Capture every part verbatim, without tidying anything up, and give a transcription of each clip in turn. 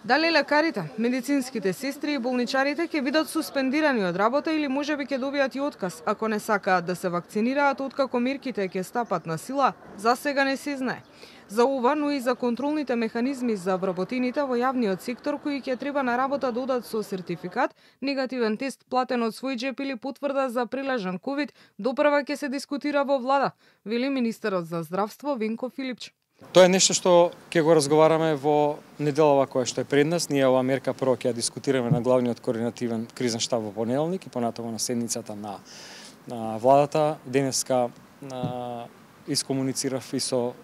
Дали лекарите, медицинските сестри и болничарите ќе бидат суспендирани од работа или можеби ќе добијат и отказ ако не сакаат да се вакцинираат откако мерките ќе стапат на сила, за сега не се знае. За ова, но и за контролните механизми за вработените во јавниот сектор кои ќе треба на работа да одат со сертификат, негативен тест платен од свој джеп или потврда за прилежан ковид, допрва ќе се дискутира во влада, вели министерот за здравство Венко Филипч. Тоа е нешто што ќе го разговараме во неделава која што е пред нас. Ние оваа мерка прво ќе ја дискутираме на главниот координативен кризен штаб во понеделник и понатаму на седницата на, на владата. Денеска на, искомуницирав и со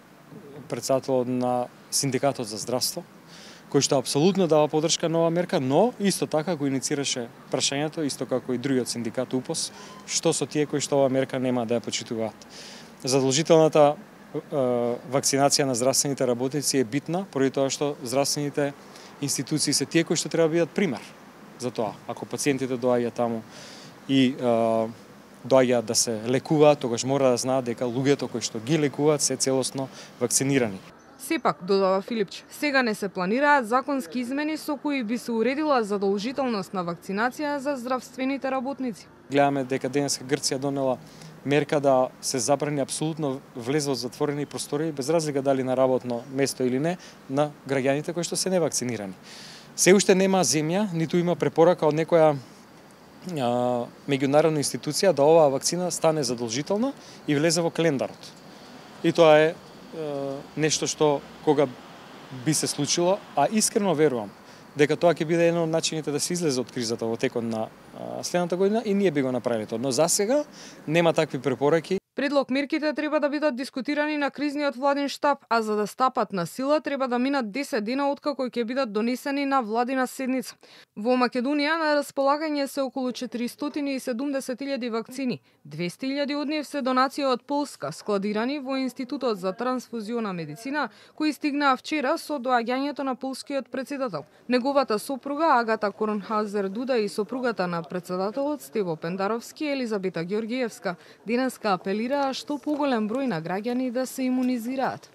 председателот на Синдикатот за здравство, кој што апсолутно дава поддршка на оваа мерка, но исто така го иницираше прашањето, исто како и другиот синдикат УПОС, што со тие кои што оваа мерка нема да ја почитуваат. Задолжителната вакцинација на здравствените работници е битна, поради тоа што здравствените институции се тие кои што треба да бидат пример за тоа. Ако пациентите доаѓаат таму и е, доаѓаат да се лекуваат, тогаш мора да знаат дека луѓето кои што ги лекуваат се целосно вакцинирани. Сепак, додава Филипч, сега не се планираат законски измени со кои би се уредила задолжителност на вакцинација за здравствените работници. Гледаме дека денеска Грција донела мерка да се забрани апсолутно влез во затворени простори, без разлика дали на работно место или не, на граѓаните кои што се невакцинирани. Се уште нема земја, ниту има препорака од некоја а, меѓународна институција да оваа вакцина стане задолжителна и влезе во календарот. И тоа е, е нешто што кога би се случило, а искрено верувам дека тоа ќе биде еден од начините да се излезе од кризата во текот на следната година и ние би го направиле тоа. Но засега нема такви препораки. Предлог мерките треба да бидат дискутирани на кризниот владин штаб, а за да стапат на сила треба да минат десет дена откако ќе бидат донесени на владина седница. Во Македонија на располагање се околу четиристотини и седумдесет илјади вакцини. двесте илјади од нив се донација од Полска, складирани во Институтот за трансфузиона медицина, кои стигнаа вчера со доаѓањето на полскиот председател. Неговата сопруга Агата Корнхаузер Дуда и сопругата на председателот Стево Пендаровски, Елизабета Ѓоргиевска, денеска апелираа што поголем број на граѓани да се имунизираат.